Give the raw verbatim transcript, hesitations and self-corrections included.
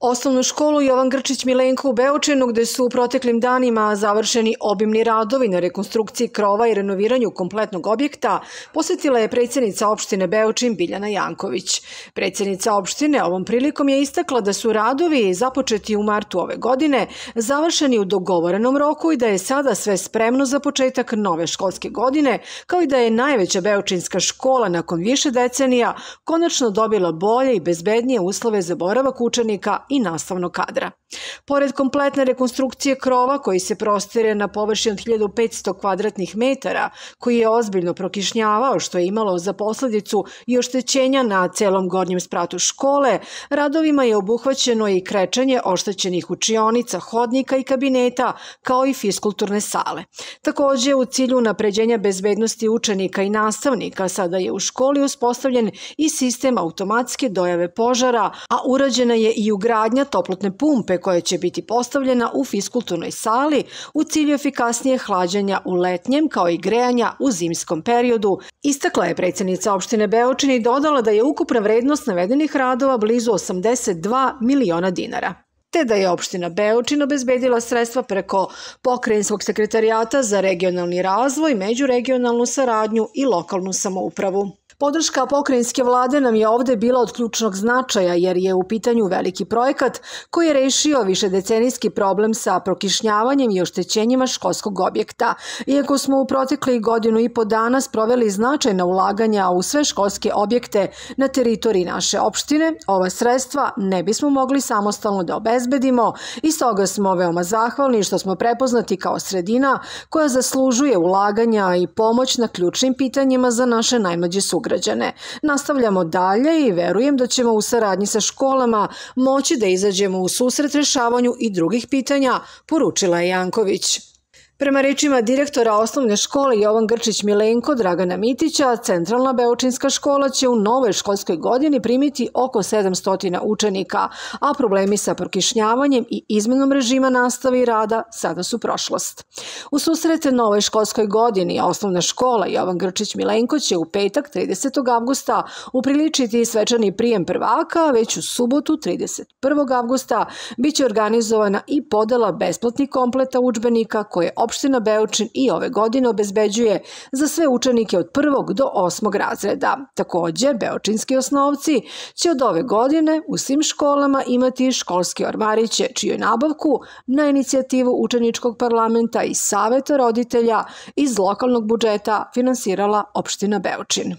Osnovnu školu Jovan Grčić Milenko u Beočinu, gde su u proteklim danima završeni obimni radovi na rekonstrukciji krova i renoviranju kompletnog objekta, posvetila je predsjednica opštine Beočin Biljana Janković. Predsjednica opštine ovom prilikom je istakla da su radovi započeti u martu ove godine završeni u dogovorenom roku i da je sada sve spremno za početak nove školske godine, kao i da je najveća beočinska škola nakon više decenija konačno dobila bolje i bezbednije uslove za boravak učenika i nastavnog kadra. Pored kompletne rekonstrukcije krova koji se prostire na površini od hiljadu petsto kvadratnih metara, koji je ozbiljno prokišnjavao što je imalo za posledicu i oštećenja na celom gornjem spratu škole, radovima je obuhvaćeno i krečenje oštećenih učionica, hodnika i kabineta, kao i fiskulturne sale. Takođe, u cilju unapređenja bezbednosti učenika i nastavnika, sada je u školi uspostavljen i sistem automatske dojave požara, a urađena je i ugradnja toplotne pumpe koja će biti postavljena u fiskulturnoj sali u cilju efikasnije hlađenja u letnjem kao i grejanja u zimskom periodu, istakla je predsjednica opštine Beočin i dodala da je ukupna vrednost navedenih radova blizu osamdeset dva miliona dinara, te da je opština Beočin obezbedila sredstva preko Pokrajinskog sekretarijata za regionalni razvoj, međuregionalnu saradnju i lokalnu samoupravu. Podrška pokrajinske vlade nam je ovde bila od ključnog značaja jer je u pitanju veliki projekat koji je rešio višedecenijski problem sa prokišnjavanjem i oštećenjima školskog objekta. Iako smo u proteklih godinu i po dana sproveli značajna ulaganja u sve školske objekte na teritoriji naše opštine, ova sredstva ne bismo mogli samostalno da obezbedimo i stoga smo veoma zahvalni što smo prepoznati kao sredina koja zaslužuje ulaganja i pomoć na ključnim pitanjima za naše najmlađe sugrađane. Nastavljamo dalje i verujem da ćemo u saradnji sa školama moći da izađemo u susret rešavanju i drugih pitanja, poručila je Janković. Prema rečima direktora osnovne škole Jovan Grčić Milenko Dragana Mitića, centralna beočinska škola će u novoj školskoj godini primiti oko sedamsto učenika, a problemi sa prokišnjavanjem i izmenom režima nastave i rada sada su prošlost. U susret novoj školskoj godini osnovna škola Jovan Grčić Milenko će u petak tridesetog avgusta upriličiti svečani prijem prvaka, a već u subotu trideset prvog avgusta biće organizovana i podela besplatnih kompleta udžbenika koje opština Beočin i ove godine obezbeđuje za sve učenike od prvog do osmog razreda. Takođe, beočinski osnovci će od ove godine u svim školama imati školske ormariće, čiju nabavku na inicijativu učeničkog parlamenta i saveta roditelja iz lokalnog budžeta finansirala opština Beočin.